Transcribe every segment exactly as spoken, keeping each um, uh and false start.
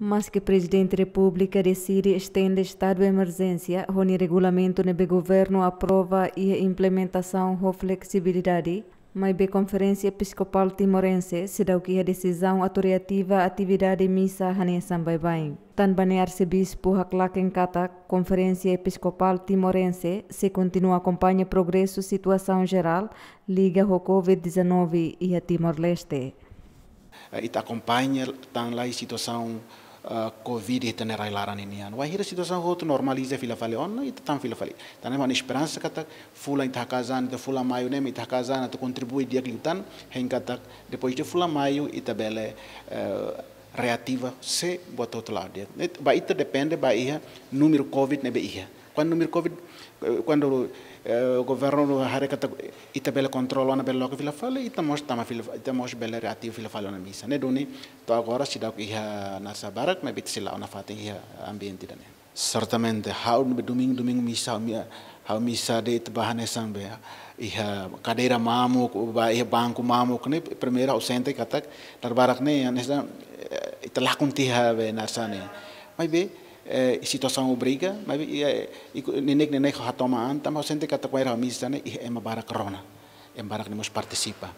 Maske Prezidente Repúblika deside estende estadu emerjénsia, ho nia regulamentu ne'ebé governu aprova iha implementasaun ho fleksibilidade, maibé Konferénsia Episkopál Timorense seidauk iha desizaun autorizativa atividade misa hanesan baibain. Tanba ne'e Arsebispu haklaken katak Konferénsia Episkopál Timorense sei kontinua akompaña progresu situasaun jerál liga ho covid dezanove iha Timor-Leste. Eh, ita akompaña tan lai situasaun, eh, covid iha ita-nia rai-laran ninian. Wainhira situasaun hotu normaliza fila fali ona, ita tan fila fali. Tan ne'e mak ha'u-nia esperansa katak fulan ita hakaas an, ita fulan maiu ne'e mak ita hakaas an atu kontribui di'ak liután, hein katak depois de fulan maiu ita bele, eh, reativa sé buat hotu la'o di'ak. Ne'e ba ita depende ba iha númeru covid ne'ebé iha. Kuandu númeru covid, eh, kuandu, eh, governu haree katak ita bele kontrola ona, bele loke fila fali, ita mós tama fila, ita mós bele reativa fila fali ona misa. Ne'e duni to'o agora seidauk iha nasaun barak, maibé ita sei la'o nafatin iha ambiente ida-ne'e. Sertamente, ha'u ne'ebé domingu, domingu misa, ha'u mi-, ha'u misa de'it ba hanesan be iha kadeira mamuk, ba iha banku mamuk ne'e, primeiru ha'u sente katak dala barak ne'e hanesan, eh, ita lakon tiha be hanesan ne'e. Maibé, eh, situasaun obriga, maibé, eh, iku-, neineik-neineik hato'o an, tanba ha'u sente katak kuandu ha'u misa ne'e, iha ema barak rona, ema barak ne'e mós partisipa.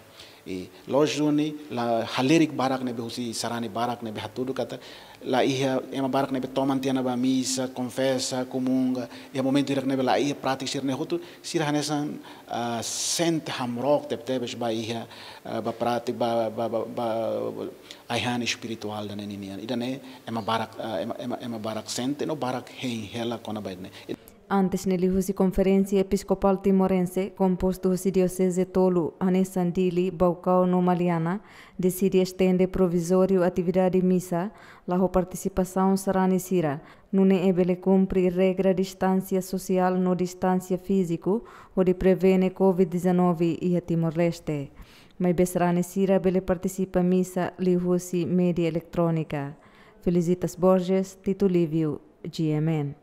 I loos duni, la halerik barak ne'ebé husi sarani barak ne'ebé hatudu katak, la iha ema barak ne'ebé toman tiha ona ba misa, konfesa, komunga, iha momentu hirak ne'ebé la iha prátika sira-ne'e hotu, sira hanesan, ah, sente hamrook tebetebes ba iha, ah, ba prátika, ba, ba, ba, ba, ai-han espirituál ida-ne'e ninian. Ida-ne'e ema barak, ah, ema, ema, ema barak sente, no barak hein hela kona-ba ida-ne'e. Antes ne'e liuhusi Konferénsia Episkopál Timorense, kompostu husi dioseze tolu, hanesan Dili, Baucau no Maliana, deside estende provizóriu atividade misa, la ho partisipasaun sarani sira, nune'e bele kumpre regra distánsia sosiál no distánsia fíziku, hodi prevene covid dezanove iha Timor-Leste. Maibé sarani sira bele partisipa misa liuhusi média eletrónika. Felicitas Borges, Tito Lívio, G M N.